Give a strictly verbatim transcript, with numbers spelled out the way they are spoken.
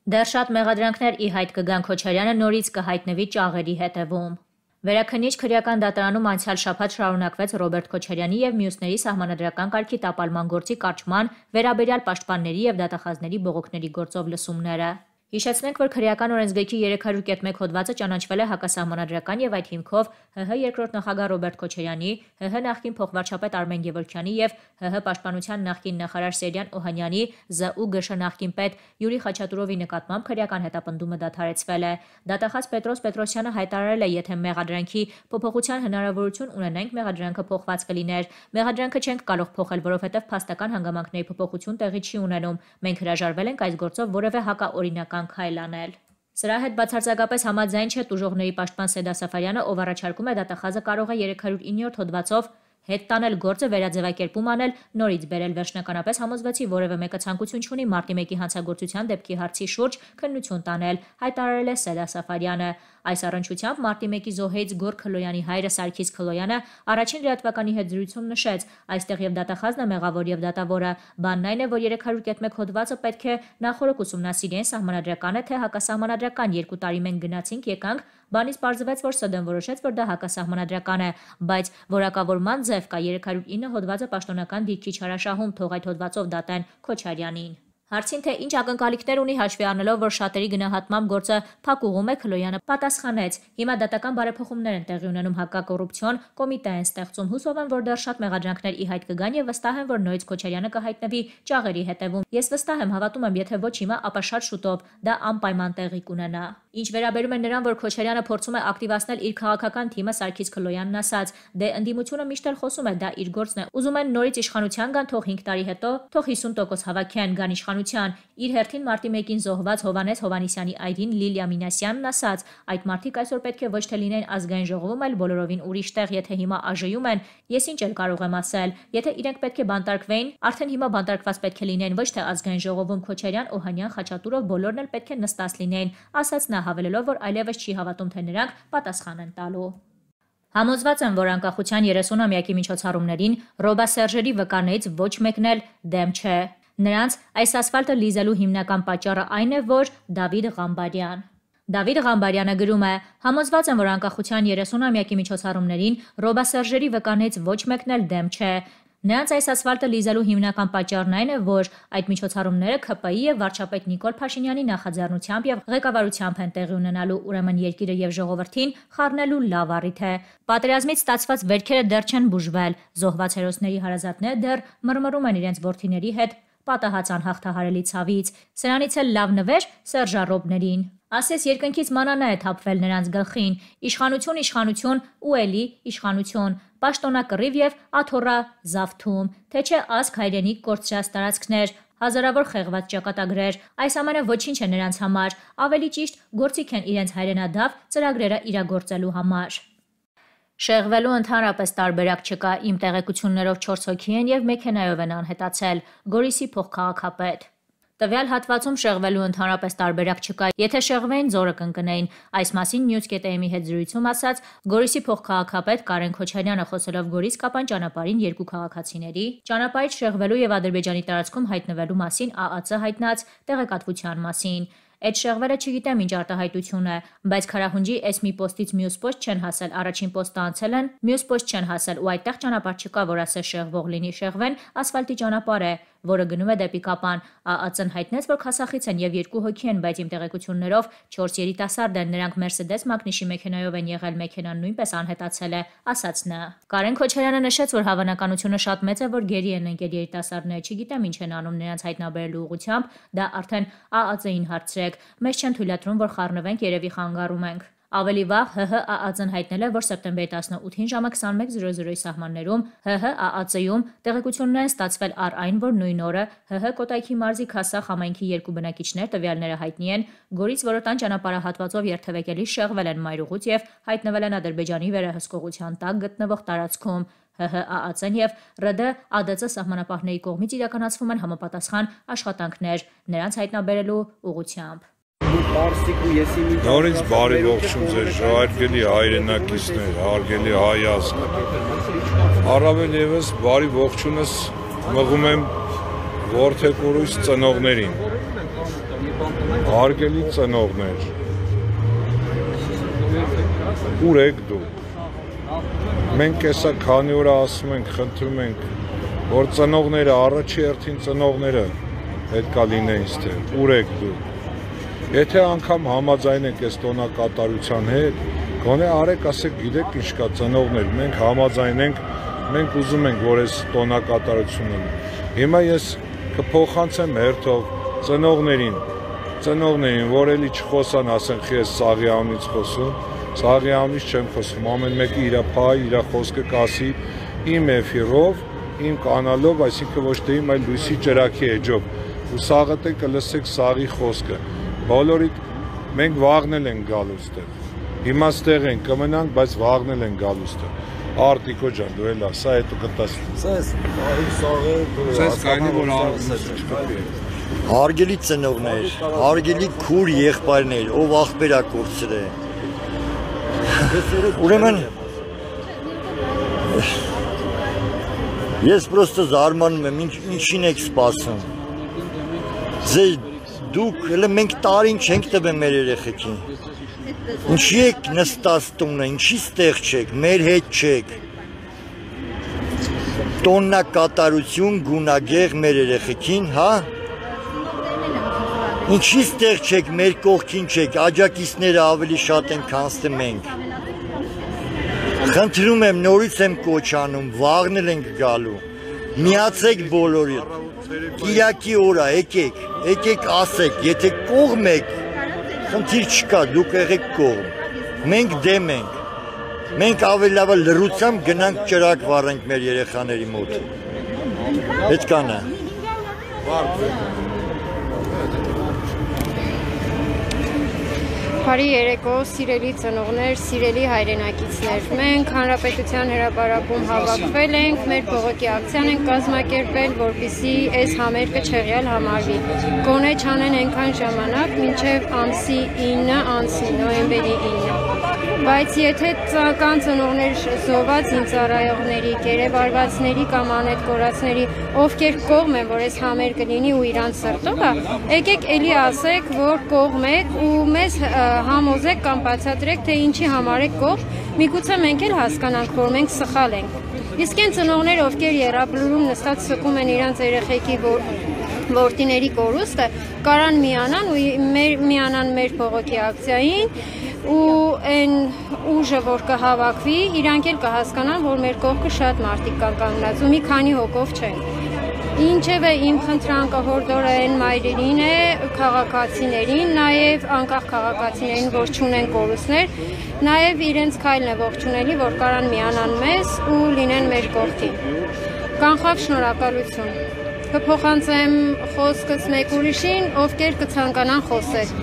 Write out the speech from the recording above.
Դեռ շատ մեղադրանքներ ի հայտ կգան, Քոչարյանը նորից կհայտնվի ճաղերի հետևում։ Վերաքննիչ քրեական դատարանում անցյալ շաբաթ շարունակվեց Ռոբերտ Քոչարյանի եւ մյուսների սահմանադրական կարգի տապալման գործի կարճման վերաբերյալ պաշտպանների եւ դատախազների բողոքների գործով լսումները։ Հիշեցնենք, որ քրեական օրենսգրքի երեք հարյուր կետ մեկ հոդվածը ճանաչվել է հակասահմանադրական եւ այդ հիմքով ՀՀ երկրորդ նախագահ Ռոբերտ Քոչարյանի, ՀՀ նախկին փոխվարչապետ Արմեն Գևորգյանի եւ ՀՀ պաշտպանության նախկին նախարար Սերյան Օհանյանի, ԶՈՒԳՇ նախկին պետ Յուրի Խաչատուրովի նկատմամբ քրեական հետապնդումը դադարեցվել է։ Դատախազ Պետրոս Պետրոսյանը հայտարարել է, եթե մեղադրանքի փոփոխության հնարավորություն ունենանք, մեղադրանքը փոխված կլիներ։ Մեղադրանքը չենք կարող փոխել, որովհետեւ փաստական հանգամանքների փոփոխություն տեղի չի ունենում։ Մենք հրաժարվել ենք այս գործով որևէ հակաօրինական քայլ անել։ Սրա հետ բացարձակապես համաձայն չէ տուժողների պաշտպան Սեդա Սաֆարյանը, ով առաջարկում է դատախազը կարող է երեք հարյուր ինը հոդվածով հետ տանել գործը, վերաձևակերպում անել, նորից բերել վերջնականապես համոզվեցի, որևէ մեկը ցանկություն չունի մարտի մեկի հանցագործության դեպքի հարցի շուրջ քննություն տանել, հայտարարել է Սեդա Սաֆարյանը։ Այս առնչությամբ մարտի մեկի զոհեից Գոր Քլոյանի հայրը Սարգիս Քլոյանը առաջին լրատվականի հետ զրույցում նշեց, այստեղ եւ դատախազն է մեղավոր եւ դատավորը։ Բանն այն է, որ երեք հարյուր կետ մեկ հոդվածը պետք է նախորդ ուսումնասիրեն, սահմանադրական է թե հակասահմանադրական։ Երկու տարի մենք գնացինք, եկանք, բանից պարզվեց, որ ՍԴ-ն որոշեց, որ դա հակասահմանադրական է, բայց որակավորման ձև կա երեք հարյուր ինը հոդվածը պաշտոնական դիրքի չարաշահում, թող այդ հոդվածով դատեն Քոչարյանին։ Հարցին թե ինչ ակնկալիքներ ունի հաշվի առնելով, որ շատերի գնահատմամբ գործը փակուղում է, Քլոյանը պատասխանեց. Հիմա դատական բարեփոխումներ են տեղի ունենում, հակակոռուպցիոն կոմիտե են ստեղծում, հուսով եմ, որ դեռ շատ մեղադրանքներ ի հայտ կգան եւ վստահ եմ, որ նորից Քոչարյանը կհայտնվի ճաղերի հետևում։ Ես վստահ եմ, հավատում եմ, եթե ոչ հիմա, ապա շատ շուտով դա անպայման տեղի կունենա։ Ինչ վերաբերում է նրան, որ Քոչարյանը փորձում է ակտիվացնել իր քաղաքական թիմը, Սարգիս Քլոյանն ասաց. դե ընդդիմությունը միշտ էլ խոսում է, դա իր գործն է, ուզում են նորից իշխանության գան, թող հինգ տարի հետո, թող հիսուն տոկոս հավաքեն, գան իշխանության։ Իր հերթին մարտի մեկին զոհված Հովհաննես Հովհաննիսյանի այրին Լիլիա Մինասյանն ասաց. այդ մարդիկ այսօր պետք է ոչ թե լինեն ազգային ժողովում, այլ բոլորովին ուրիշ տեղ, եթե հիմա ԱԺ-ում են, ես ինչ էլ կարող եմ ասել, եթե իրենք պետք է բանտարկվեին, արդեն հիմա բանտարկված պետք է լինեն, ոչ թե ազգային ժողովում Քոչարյան, Օհանյան, Խաչատուրով բոլորն էլ պետք է նստած լինեին, ասաց նա, հավելելով, որ այլևս չի հավատում, թե նրանք պատասխան են տալու։ Համոզված եմ, որ անկախության երեսունամյակի միջոցառումներին Ռոբա Սերժերի վկաներից ոչ մեկն էլ դեմ չէ։ Նրանց այս ասֆալտը լիզելու հիմնական պատճառը այն է, որ Դավիթ Ղամբարյան Դավիթ Ղամբարյանը գրում է. համոզված եմ, որ անկախության երեսունամյակի միջոցառումներին Ռոբա Սերժերի վկաներից ոչ մեկն էլ դեմ չէ։ Նրանց այս ասֆալտը լիզելու հիմնական պատճառն այն է, որ այդ միջոցառումները ՔՊ-ի եւ վարչապետ Նիկոլ Փաշինյանի նախաձեռնությամբ եւ ղեկավարությամբ են տեղի ունենալու, ուրեմն երկիրը եւ ժողովրդին խառնելու լավ առիթ է։ Պատերազմից ստացված վերքերը դեռ չեն բուժվել, զոհված հերոսների հարազատները դեռ մռմռում են իրենց որդիների հետ պատահած անհաղթահարելի ցավից, սրանից էլ լավ նվեր սերժառոբներին։ Ասես երկնքից մանանա է թափվել նրանց գլխին, իշխանություն, իշխանություն ու էլի իշխանություն, պաշտոնակռիվ եւ աթոռա զավթում, թե չէ ազգ հայրենիք կորցրած տարածքներ, հազարավոր խեղված ճակատագրեր, այս ամենը ոչինչ է նրանց համար, ավելի ճիշտ գործիք են իրենց հայրենադավ ծրագրերը իրագործելու համար։ Շեղվելու ընդհանրապես տարբերակ չկա, իմ տեղեկություններով չորս հոգի են եւ մեքենայով են անհետացել, Գորիսի փոխքաղաքապետ։ Տվյալ հատվածում շեղվելու ընդհանրապես տարբերակ չկա, եթե շեղվեին ձորը կընկնեին, այս մասին News.am-ի հետ զրույցում ասաց Գորիսի փոխքաղաքապետ Կարեն Քոչարյանը, խոսելով Գորիս Կապան ճանապարհին երկու քաղաքացիների ճանապարհից շեղվելու եւ Ադրբեջանի տարածքում հայտնվելու մասին ԱԱՑ հայտնած տեղեկատվության մասին։ Այդ շեղվերը չգիտեմ ինչ արտահայտություն է, բայց Քարահունջի էս մի պոստից մյուս պոստ չեն հասել, առաջին պոստը անցել են, մյուս պոստ չեն հասել ու այդտեղ ճանապարհ չկա, որ ասես շեղվող լինի, շեղվեն ասֆալտի ճանապարհ է, որը գնում է դեպի Կապան։ ԱԱՑ-ն հայտնեց, որ քասախից են եւ երկու հոգի են, բայց իմ տեղեկություններով չորս երիտասարդ են, նրանք Mercedes Magnus-ի մեքենայով են եղել, մեքենան նույնպես անհետացել է, ասաց նա։ Կարեն Քոչարյանը նշեց, որ հավանականությունը շատ մեծ է, որ գերի են ընկել երիտասարդները, չգիտեմ ինչ են անում նրանց հայտնաբերելու ուղղությամբ, դա արդեն ԱԱՑ-ին հարցրեք, մեզ չեն թույլատրում, որ խառնվենք, երևի խանգարում ենք։ Ավելի վաղ ՀՀ ԱԱՑ-ն հայտնել է, որ սեպտեմբերի տասնութին ժամը քսանմեկ զրո զրոյի սահմաններում ՀՀ ԱԱՑ-ում տեղեկություններ են ստացվել առ այն, որ նույն օրը ՀՀ Կոտայքի մարզի Քասախ համայնքի երկու բնակիչներ, տվյալները հայտնի են, Գորից Որոտան ճանապարհահատվածով երթևեկելի շեղվել են մայրուղուց եւ հայտնվել են Ադրբեջանի վերահսկողության տակ գտնվող տարածքում։ ՀՀ ԱԱՑ-ն եւ ՌԴ ԱԴՑ սահմանապահների կողմից իրականացվում են համապատասխան աշխատանքներ նրանց հայտնաբերելու ուղղությամբ։ Նորից բարի ողջույն ձեզ հարգելի հայրենակիցներ, հարգելի հայ ազգ։ Առավել եւս բարի ողջունս մղում եմ որդեկորույս ծնողներին։ Հարգելի ծնողներ, ուր եք դուք։ Մենք էսա քանի օր ասում ենք, խնդրում ենք, որ ծնողները, առաջի հերթին ծնողները պետք է լինեն ստեղ, ուր եք դուք։ Եթե անգամ համաձայն եք այս տոնակատարության հետ, գոնե արեք, ասեք, գիտեք ինչ կա ծնողներ, մենք համաձայն ենք, մենք ուզում ենք, որ այս տոնակատարությունը։ Հիմա ես կփոխանցեմ հերթով ծնողներին, ծնողներին, որ էլի չխոսան, ասենք, ես սաղի անունից խոսում, սաղի անունից չեմ խոսում, ամեն մեկը իր փայ, իր խոսքը կասի իմ էֆիրով, իմ կանալով, այսինքն ոչ թե իմ, այլ լույսի ճրագի էջով, ու սաղը թե կլսեք սաղի խոսքը, բոլորիդ մենք վաղնել ենք գալու ստեղ, հիմա ստեղ ենք կմնանք, բայց վաղնել ենք գալու ստեղ, Արտիկո ջան, դու էլ ասա, հետո կտաս։ Սա էս սաղը Սես կայնի, որ արվես չկպի։ Հարգելի ծնողներ, հարգելի քուր եղբայրներ, ով աղբերա կորցրե։ Ուրեմն ես պրոստը զարմանում եմ, ինչին եք սպասում։ Ձեր դուք, elə մենք տարին չենք տվել մեր երեխեքին։ Ինչի եք նստած տունը, ինչի ստեղ չեք, մեր հետ չեք։ Տոնակատարություն գունագեղ մեր երեխեքին, հա։ Ինչի ստեղ չեք, մեր կողքին չեք, աջակիցները ավելի շատ են, քան թե մենք։ Խնդրում եմ, նորից եմ կոչ անում, վաղնել ենք գալու։ Միացեք բոլորին։ Կիրակի օր է, եկեք, եկեք ասեք, եթե կողմ եք, խնդիր չկա, դուք եղեք կողմ։ Մենք դեմ ենք։ Մենք ավելի լավ լռությամբ գնանք ճրագ վառենք մեր երեխաների մոտ։ Այդքան է։ Բարի երեկո, սիրելի ծնողներ, սիրելի հայրենակիցներ։ Մենք Հանրապետության հրապարակում հավաքվել ենք, մեր բողոքի ակցիան ենք կազմակերպել, որպեսզի այս համերգը չեղյալ համարվի։ Գոնե չանեն այնքան ժամանակ, մինչև ամսի ինը անցնի, նոյեմբերի ինը։ Բայց եթե կան ծնողներ զոհված ինձարայողների, գերեվարվածների կամ անետ-կորածների, ովքեր կողմ են, որ այս համերգը լինի ու իրանց սրտովը, եկեք էլի ասեք, որ կողմ եք ու մեզ համոզեք կամ բացատրեք, թե ինչի համար եք կողմ, միգուցե մենք էլ հասկանանք, որ մենք սխալ ենք։ Իսկ այն ծնողներ, ովքեր եռաբլուրում նստած սկում են իրանց երեխեքի որդիների կորուստը, կարան միանան ու միանան մեր բողոքի ակցիային ու այն ուժը, որ կհավաքվի, իրանք էլ կհասկանան, որ մեր կողքը շատ մարդիկ կան կանգնած ու մի քանի հոգով չեն։ Ինչևէ իմ խնդրանքը հորդորային մայրերին է, քաղաքացիներին, նաև անկախ քաղաքացիներին, որ չունեն կորուստներ, նաև իրենց քայլն է ողջունելի, որ կարան միանան մեզ ու լինեն մեր կողքին։ Կանխավ շնորհակալություն։ Կփոխանցեմ խոսքս մեկ ուրիշին, ովքեր կցանկանան խոսել։